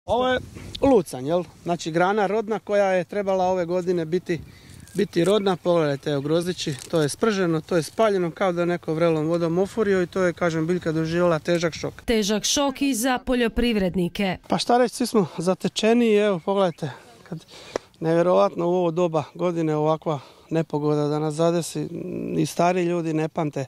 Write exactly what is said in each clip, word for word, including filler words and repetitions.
Ovo je lucanj, jel? Znači grana rodna koja je trebala ove godine biti, biti rodna. Pogledajte, evo grozdići, to je sprženo, to je spaljeno kao da neko vrelom vodom ofurio i to je, kažem, biljka doživjela težak šok. Težak šok i za poljoprivrednike. Pa šta reći, svi smo zatečeni i evo pogledajte, kad nevjerovatno u ovo doba godine ovakva nepogoda da nas zadesi, i stari ljudi ne pamte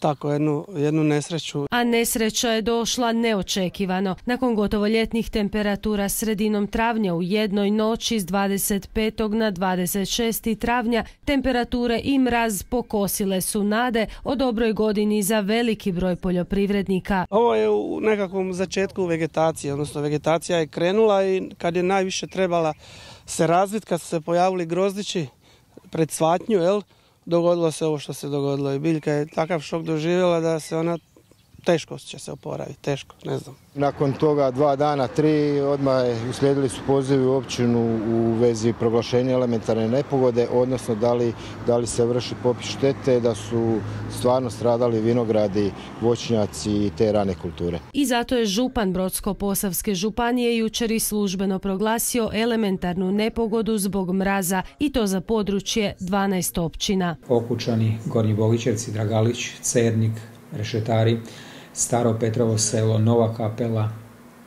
tako jednu, jednu nesreću. A nesreća je došla neočekivano. Nakon gotovo ljetnih temperatura sredinom travnja u jednoj noći s dvadeset petog na dvadeset šesti travnja temperature i mraz pokosile su nade o dobroj godini za veliki broj poljoprivrednika. Ovo je u nekakvom začetku vegetacije, odnosno vegetacija je krenula i kad je najviše trebala se razviti, kad su se pojavili grozdići pred cvatnju, jel? Dogodilo se ovo što se dogodilo i biljka je takav šok doživjela da se ona teško će se oporaviti, teško, ne znam. Nakon toga dva dana, tri, odmah uslijedili su pozivi u općinu u vezi proglašenja elementarne nepogode, odnosno da li, da li se vrši popis štete, da su stvarno stradali vinogradi, voćnjaci i te rane kulture. I zato je župan Brodsko-posavske županije jučer i službeno proglasio elementarnu nepogodu zbog mraza i to za područje dvanaest općina. Okučani, Gornji Bogićevci, Dragalić, Cernik, Rešetari, Staro Petrovo selo, Nova Kapela,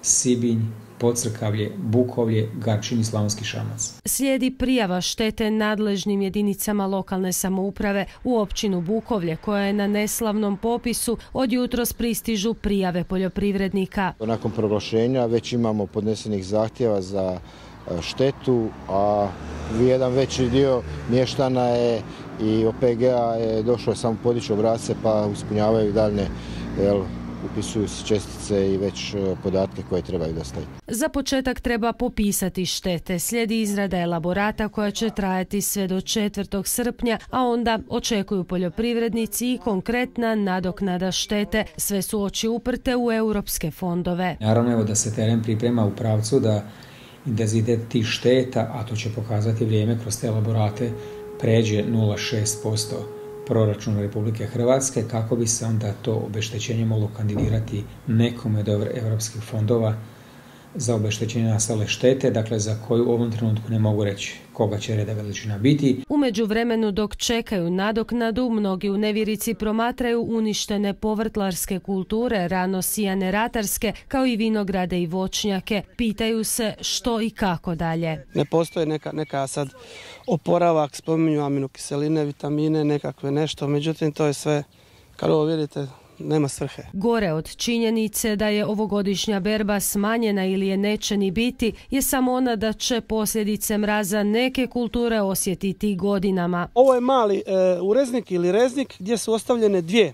Sibinj, Podcrkavlje, Bukovlje, Garčin i Slavonski Šamac. Slijedi prijava štete nadležnim jedinicama lokalne samouprave u općinu Bukovlje koja je na neslavnom popisu. Od jutros pristižu prijave poljoprivrednika. Nakon proglašenja već imamo podnesenih zahtjeva za štetu, a jedan veći dio mještana je i O P G-a je došlo samo podići obrasce pa ispunjavaju daljne, jel, upisuju se čestice i već podatke koje trebaju dostaviti. Za početak treba popisati štete. Slijedi izrada elaborata koja će trajati sve do četvrtog srpnja, a onda očekuju poljoprivrednici i konkretna nadoknada štete. Sve su oči uprte u europske fondove. Naravno, evo da se teren priprema u pravcu da intenzitet tih šteta, a to će pokazati vrijeme kroz te elaborate, pređe nula zarez šest posto proračuna Republike Hrvatske, kako bi se onda to obeštećenje moglo kandidirati nekome od europskih fondova za obeštećenje nastale štete, dakle za koju u ovom trenutku ne mogu reći koga će reda veličina biti. U međuvremenu dok čekaju nadoknadu, mnogi u nevjerici promatraju uništene povrtlarske kulture, rano sijane ratarske, kao i vinograde i voćnjake. Pitaju se što i kako dalje. Ne postoje neka, neka sad oporavak, spominju aminokiseline, vitamine, nekakve nešto, međutim to je sve, kad ovo vidite, nema svrhe. Gore od činjenice da je ovogodišnja berba smanjena ili je neće ni biti je samo ona da će posljedice mraza neke kulture osjetiti godinama. Ovo je mali e, ureznik ili reznik gdje su ostavljene dvije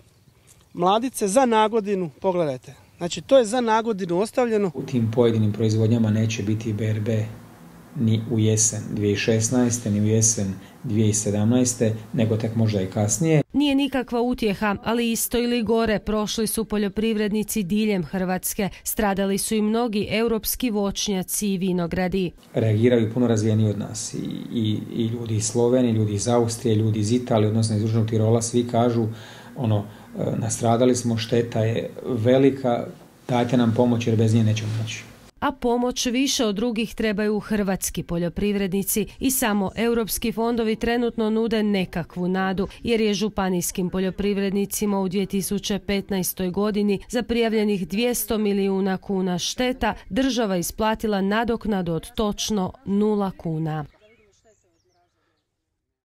mladice za nagodinu, pogledajte. Znači to je za nagodinu ostavljeno. U tim pojedinim proizvodnjama neće biti berbe ni u jesen dvije tisuće šesnaeste, ni u jesen dvije tisuće sedamnaeste, nego tek možda i kasnije. Nije nikakva utjeha, ali isto ili gore prošli su poljoprivrednici diljem Hrvatske. Stradali su i mnogi europski voćnjaci i vinogradi. Reagiraju puno razvijeniji od nas. I, i, i ljudi iz Slovenije, ljudi iz Austrije, ljudi iz Italije, odnosno iz Južnog Tirola, svi kažu ono, nastradali smo, šteta je velika, dajte nam pomoć jer bez nje nećemo moći. A pomoć više od drugih trebaju hrvatski poljoprivrednici i samo europski fondovi trenutno nude nekakvu nadu, jer je županijskim poljoprivrednicima u dvije tisuće petnaestoj godini za prijavljenih dvjesto milijuna kuna šteta država isplatila nadoknadu od točno nula kuna.